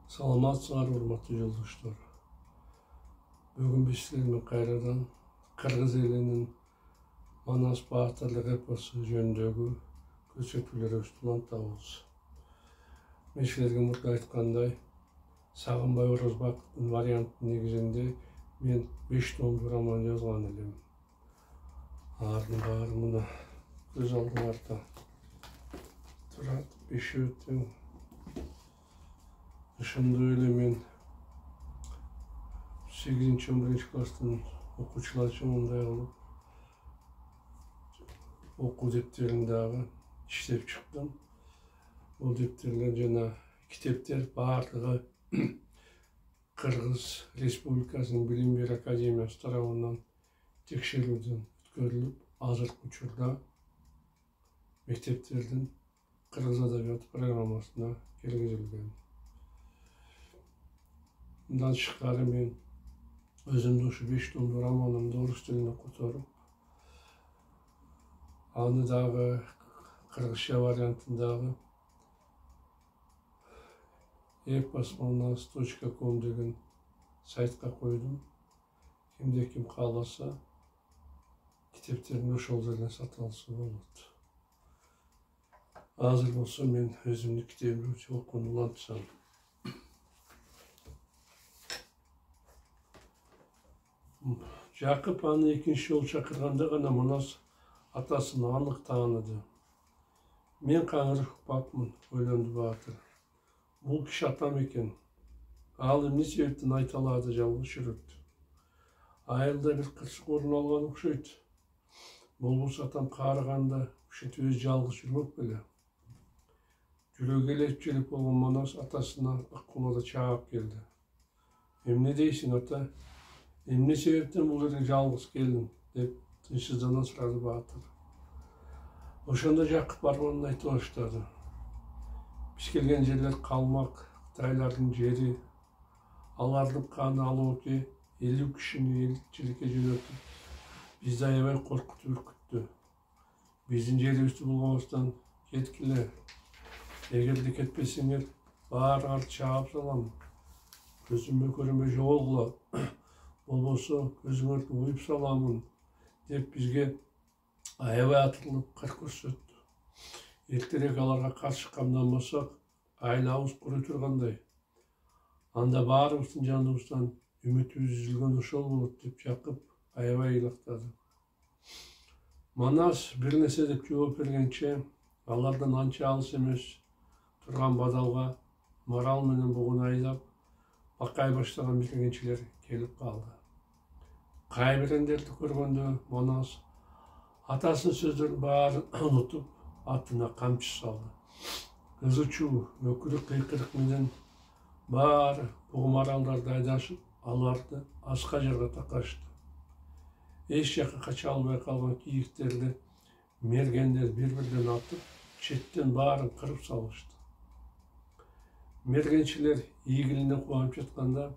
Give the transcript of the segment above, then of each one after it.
Саламатсыңар, урматтуу жолдоштор. Бүгүн биз силер менен кайрадан кыргыз элинин Манас баатырлык эпосу жөнүндөгү көрсөтүүлөрүбүздү улантабыз. Мен силерге мурда айткандай, Сагынбай Орозбактын варианттын негизинде мен 5 томдуу роман жазган элем. Алардын баары мына көз алдыңарда турат, 5-өө тең. Ошондой эле мен 8-11 класстын окуучулары мындай кылып окуу дептерин дагы иштеп чыктым. Бул дептерлер жана китептер баардыгы Кыргыз Республикасынын Билим берүү академиясы тарабынан текшерүүдөн өткөрүлүп, азыркы учурда мектептердин кыргыз адабияты программасына киргизилген. Мындан тышкары мен өзүмдүн ушу 5 томдуу романымды орус тилине которуп, аны дагы кыргызча вариантындагы eposmanas.com деген сайтка койдум. Кимде-ким кааласа, китептерин ошол жерден сатып алса болот. Азыр болсо мен өзүмдүн китебимди окууну улантсам. Жакып аны экинчи жолу чакырганда гана Манас атасын анык тааныды. Мен каңырып укпапмын, ойлонду баатыр. Бул киши атам экен. Ал эмне себептен айталаада жалгыз жүрөт? Айылда бир кырсык орун алган окшойт. Болбосо атам каарыганда ушинтип өзү жалгыз жүрмөк беле. Жүрөгү элеп желеп болгон Манас атасына ыккулада чаап келди. Эмне дейсиң, ата? Эмне себептен бул жерге жалгыз келдиң? Деп тынчсыздана сурады баатыр. Ошондо Жакып арманын айта баштады. Биз келген жерлер калмак, Кытайлардын жери. Алардын каны алооке 50 кишини элчиликке жөнөтүп, бизди аябай коркутуп үркүттү. Биздин жерибизди булгабастан кеткиле. Эгерде кетпесеңер, баарыңарды чаап салам. Көзүмө көрүнбөй жоголгула. Болбосо көзүңөрдү уюп саламын, деп бизге аябай атырылып кыр көрсөттү. Эртерээк аларга каршы камданбасак, айлабыз курой тургандай. Анда баарыбыздын жаныбыздан үмүтүбүз үзүлгөн ошол болот, деп Жакып аябай ыйлыктады. Манас бир нерсе деп жооп бергенче, алардан анча алыс эмес турган бадалга марал менен бугун айдап, бакай баштаган мергенчилер келип калды. Кайбирендерди көргөндө Манас атасынын сөздөрүнүн баарын унутуп, атына камчы салды. Кызычуу, өкүрүк кыйкырык менен баары бугу маралдарды айдашып, аларды аска жарга такашты. Эч жакка кача албай калган кийиктерди мергендер бири-бирден атып, четтен баарын кырып салышты. Мергенчилер ийгилине кубанып жатканда,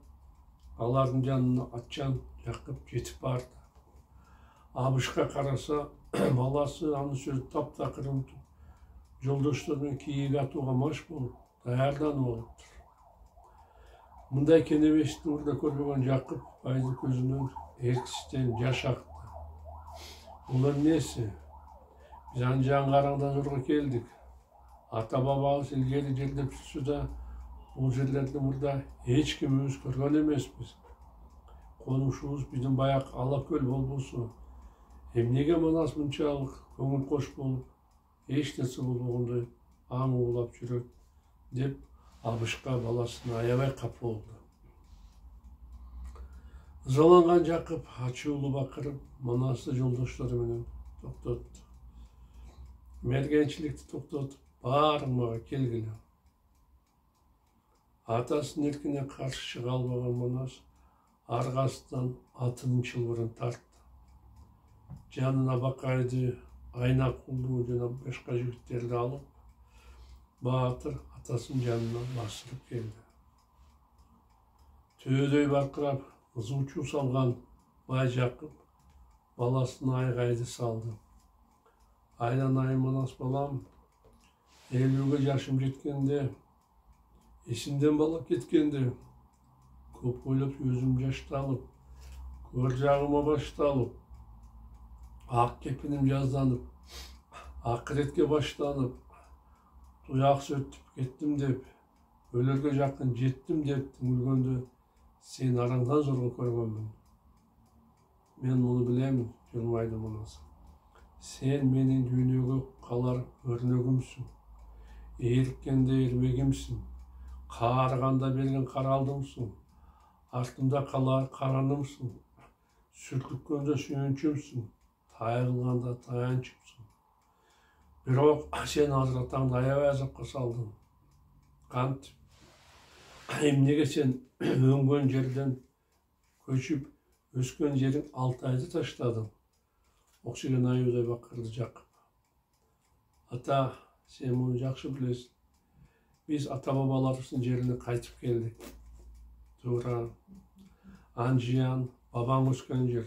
алардын жанына атчан Жакып жетип барды. Абышка караса, баласы анын сөзүн таптакыр унутуп, жолдоштор менен кийик атууга маш болуп, даярданып алыптыр. Мындай кенебешти мурда көрбөгөн Жакып байдын көзүнөн эрксизден жаш акты. Бул эмнеси? Биз анжан караңдан зорго келдик. Ата-бабабыз илгери жердеп жүрсө да, бул жерлерди мурда эч кимибиз көргөн эмеспиз. Конушубуз биздин баяк Ала-көл болбосо, эмнеге Манас мынчалык көңүл кош болуп, эч нерсе болбогондой аң уулап жүрөт, деп Абышка баласына аябай капа болду. Ызаланган Жакып ачуулуу бакырып, Манасты жолдоштору менен токтотту. Мергенчиликти токтотуп, баарың мага келгиле. Атасынын эркине каршы чыга албаган Манас аргасынан атынын чылбырын тартты. Жанына Бакайды, Айнакулду жана башка жигиттерди алып, баатыр атасынын жанына басылып келди. Төөдөй баркырап, ызуу чуу салган бай Жакып баласына айгайды салды. Айланайын Манас балам, 50-ге жашым жеткенде Эсимден бала кеткенде көп ойлоп өзүм жашталып, көр жагыма башталып, ак кепиним жазданып, акыретке баштанып, туяк сөтүп кеттим деп, өлөргө жакын жеттим деп түңүлгөндө сен араңдан зорго көргөнмүн. Мен муну билемин, жылмайды Манас. Сен менин дүйнөгө калар өрнөгүмсүң. Ээриккенде эрмегимсиң. Каарыганда берген каралдымсың. Артымда калар каранымсың. Сүркүткөндө сүйүнчүмсүң. Тайгылганда таянчымсың. Бирок сен азыр атаңды аябай азапка салдың. Кантип? Эмнеге сен өңгөн жерден көчүп, өскөн жериң Алтайды таштадың? Оксиген айуудай бакырды жакып. Ата, сен муну жакшы билесиң. Биз ата-бабаларыбыздын жерине кайтып келдик. Туура. Анжиян, бабаң өскөн жер.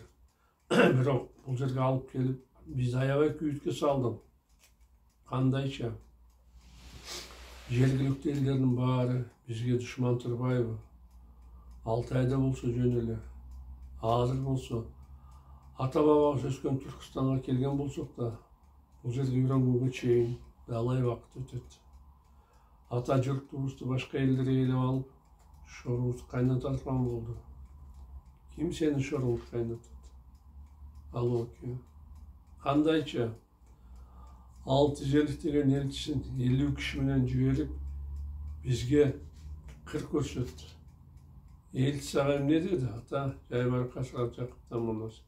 Бирок бул жерге алып келип, бизди аябай күйүткө салдың. Кандайча? Жергиликтүү элдердин баары бизге душман турбайбы? Алтайда болсо жөн эле. Азыр болсо ата-бабабыз өскөн Түркүстанга келген болсок да, бул жерге үйрөнгөнгө чейин далай убакыт өтөт. Ата журтубузду башка элдер ээлеп алып, шорубузду кайнататкан болду. Ким сени шоруңду кайнатат? Алооке. Кандайча? 650 деген элчисин 50 киши менен жиберип, бизге кыр көрсөттү. Элчи сага эмне деди? Ата, Жайбаракат Жакыптан Манас.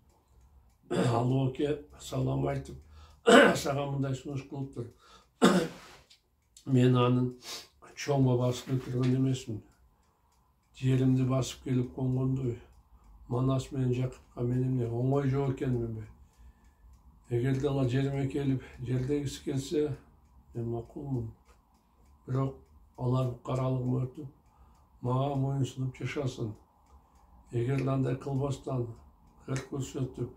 Алооке салам айтып, сага мындай сунуш кылыптыр. Мен анын чоң бабасын өлтүргөн эмесмин. Жеримди басып келип конгондой, Манас менен Жакыпка мен эмне оңой жок экенминби? Эгерде алар жериме келип, жердегиси келсе, мен макулмун. Бирок алар букаралыгым өтүп, мага моюн сунуп жашасын. Эгер андай кылбастан, кыр көрсөтүп,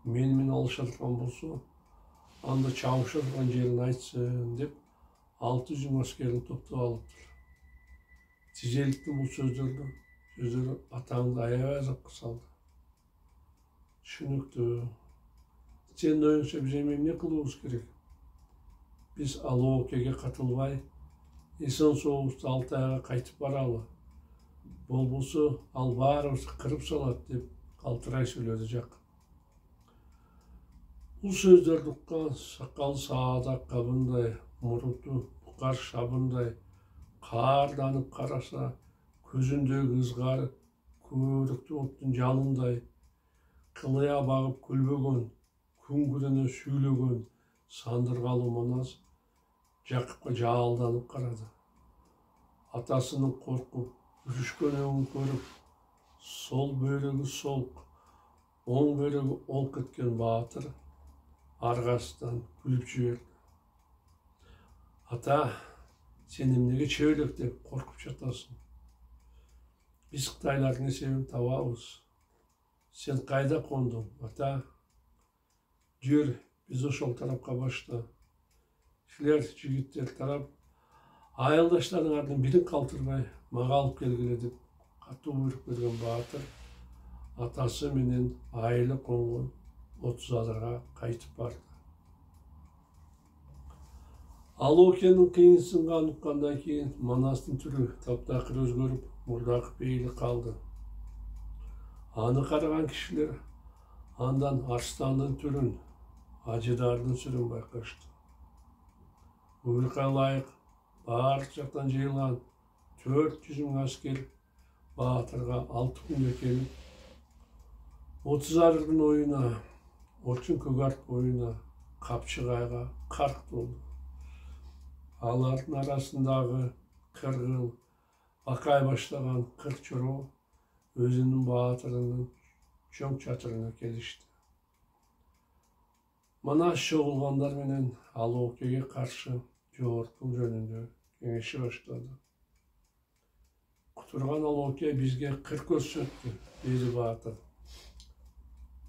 мени менен алыша турган болсо, анда чабыша турган жерин айтсын деп 600 аскерин топтоп алыптыр. Тизеликтин бул сөздөрү атаңды аябай азапка салды. Түшүнүктүү. Сенин оюңча биз эмне кылыбыз керек? Биз Алоокеге катылбай, эсен сообузду Алтайга кайтып баралы. Болбосо ал баарыбызды кырып салат деп калтырай сүйлөдү Жакып. Бул сөздөрдү уккан сакалы саадак кабындай, муруту букар шабындай, каарданып караса, көзүндөгү ызгары көбөрүктүү оттун жалындай, кылыя багып күлбөгөн, күңгүрөнө сүйлөгөн сандыргалуу Манас Жакыпка жаалданып карады. Атасынын коркуп, үрүшкөнүн көрүп, сол бөйрөгү солк, оң бөйрөгү олк эткен баатыр аргасынан күлүп жиберди. Ата, сен эмнеге чөбөлөктөп коркуп жатасың? Биз Кытайлардын эсебин табабыз. Сен кайда кондуң, ата? Жүр, биз ошол тарапка башта. Силер жигиттер тарап, айылдаштарыңардын бирин калтырбай мага алып келгиле деп катуу буйрук берген баатыр атасы менен айылы конгон 30 адарга кайтып барды. Алоокенин кыйынсынган уккандан кийин Манастын түрү таптакыр өзгөрүп, мурдагы пейили калды. Аны караган кишилер андан арстандын түрүн, ажыдардын сүрүн байкашты. Буйрукка ылайык баардык жактан жыйылган 400 000 аскер баатырга 6 күнгө келип, 30 адырдын оюна, Орчун Көгарт боюна, Капчыгайга карк болду. Алардын арасындагы Кыргыл, Бакай баштаган 40 чороо өзүнүн баатырынын чоң чатырына келишти. Манас чогулгандар менен Алоокеге каршы жогорку жөнүндө кеңеши баштады. Кутурган Алооке бизге кыр көрсөттү, деди баатыр.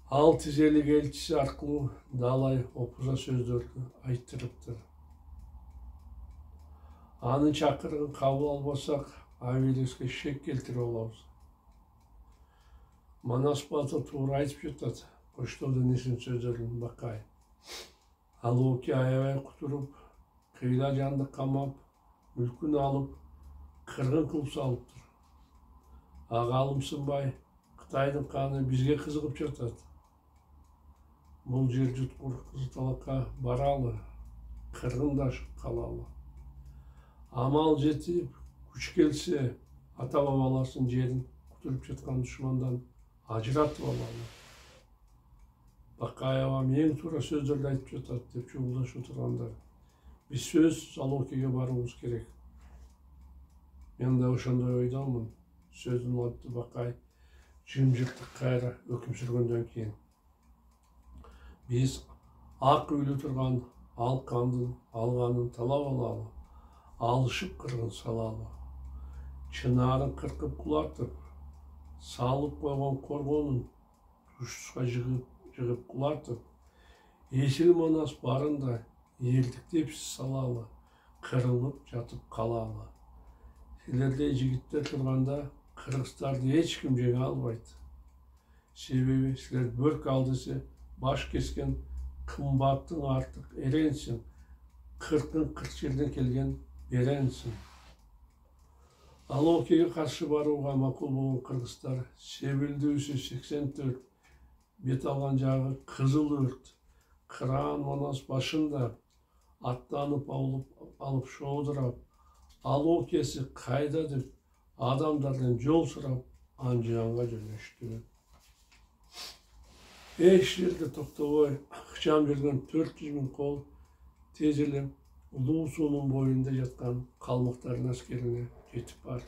Ал тизелик элчиси аркылуу далай опуза сөздөрдү айттырыптыр. Анын чакырыгын кабыл албасак, Авелиске шек келтирип алабыз. Манас батыр туура айтып жатат. Коштоодун исин сөздөрүн Бакай. Алооке аябай кутуруп, кыйла жанды камап, мүлкүн алып, кыргын кылып салыптыр. Ага алымсынбай, Кытайдын каны бизге кызыгып жатат. Бул жер жуткур Кызыл Талакка баралы, кыргындашып калалы. Амал жетип, күч келсе, ата бабаларынын жерин кутуруп жаткан душмандан ажыратып алалы. Бакаева эң туура сөздөрдү айтып жатат деп чогулдашып отургандар. Биз сөзсүз Алоокеге баруубуз керек. Мен да ошондой ойдомун. Сөздүн аты Бакай жымжырттык кайра өкүм сүргөндөн кийин. Биз ак үйлү турган ал кандын алганын талап алалы. Алышып кыргын салалы. Чынаарын кыркып кулатып, салып койгон коргонун тушсузга жыгып кулатып, эсил Манас барында элдиктеп салалы, кырылып жатып калалы. Силердей жигиттер турганда кыргыздарды эч ким жеңе албайт. Себеби силер бөрк ал десе баш кескен кымбаттың артык эренсиң, 40 жерден келген беренсиң. Алоокеге каршы барууга макул болгон кыргыздар Себилдүүсү 84, бет алган жагы кызыл өрт, Кыран Манас башында аттанып алып шоодурап, Алоокеси кайда деп адамдардан жол сурап, Анжыянга жөнөштү. Эч жерде токтобой ыкчам жүргөн 400 000 кол тез эле Улуу суунун боюнда жаткан калмыктардын аскерине жетип барды.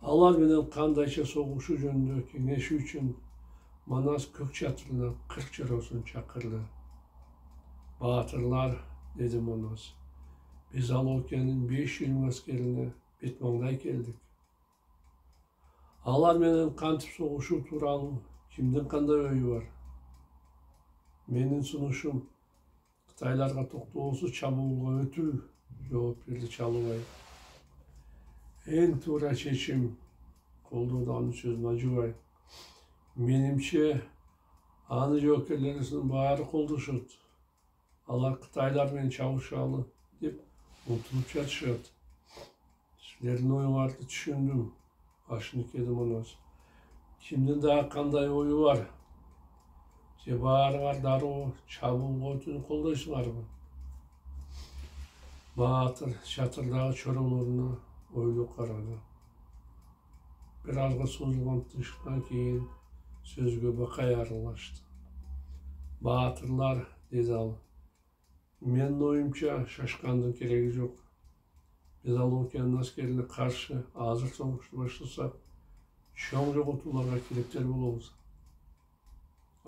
Алар менен кандайча согушу жөнүндө кеңешүү үчүн Манас көк чатырына 40 чороосун чакырды. Баатырлар, деди Манас, биз Алоокенин 500 000 аскерине бетмаңдай келдик. Алар менен кантип согушуу тууралуу кимдин кандай ою бар? Менин сунушум Кытайларга токтоосуз чабуулга өтүү, жооп берди Чалубай. Эң туура чечим, колдоду анын сөзүн Ажыбай. Менимче, аны жоокерлерибиздин баары колдошот. Алар Кытайлар менен чабышалы деп умтулуп жатышат. Силердин оюңарды түшүндүм, Ашынекеди Манас. Кимдин дагы кандай ою бар? Же баарыңар дароо чабуулга өтүүнү колдойсуңарбы? Баатыр чатырдагы чоролоруна ойлуу карады. Бир азга созулган тынчтыктан кийин сөзгө Бакай аралашты. Баатырлар, деди ал, менин оюмча шашкандын кереги жок. Биз Алоокенин аскерине каршы азыр согушту баштасак, чоң жоготууларга кирептер болобуз.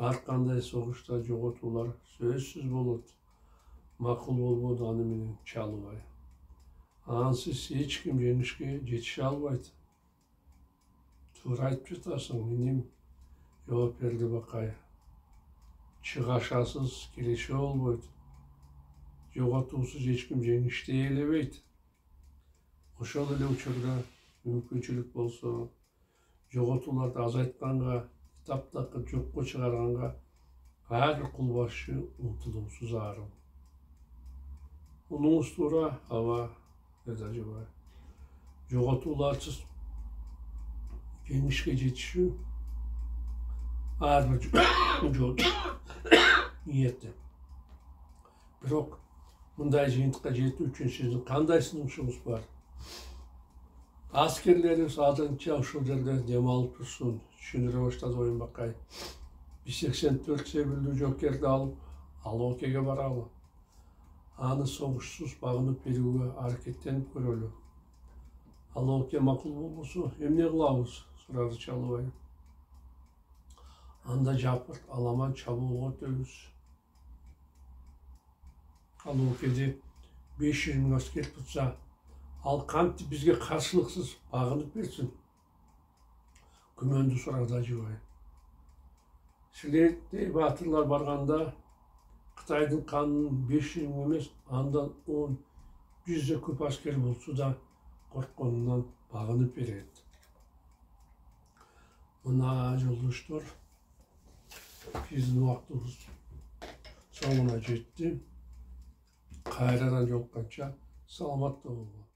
Ар кандай согушта жоготуулар сөзсүз болот. Макул болбоду аны менен Чалубай. Ансыз эч ким жеңишке жетише албайт. Туура айтып жатасың, иним, жооп берди Бакай. Чыгашасыз киреше болбойт. Жоготуусуз эч ким жеңиштей элебейт. Ошол эле учурда мүмкүнчүлүк болсо, жоготууларды азайтканга, таптакыр жокко чыгарганга ар бир кул башчы умтулуусуз зарыл. Унуңуз туура, аба, деди Ажыбай. Жоготууларсыз жеңишке жетишүү ар бир жол ниетте. Бирок мындай жыйынтыкка жетүү үчүн сиздин кандай сунушуңуз бар? Аскерлерибиз азырынча ушул жерде дем алып турсун, түшүндүрө баштады Оюн Бакай. Биз 84 Себилдүү жоокерди алып Алоокеге баралы. Аны согушсуз багынып берүүгө аракеттенип көрөлү. Алооке макул болбосо эмне кылабыз? Сурады Чалубай. Анда жапырт аламан чабуулга өтөбүз. Алоокеди 500 000 аскер турса, ал кантип бизге каршылыксыз багынып берсин? Күмөндүү сурады Ажыбай. Силердей баатырлар барганда Кытайдын канынын 500 000 эмес, андан 10, жүздөй көп аскер болсо да коркконунан багынып берет. Мына жолдоштор, биздин убактыбыз соңуна жетти. Кайрадан жолукканча саламатта болгула.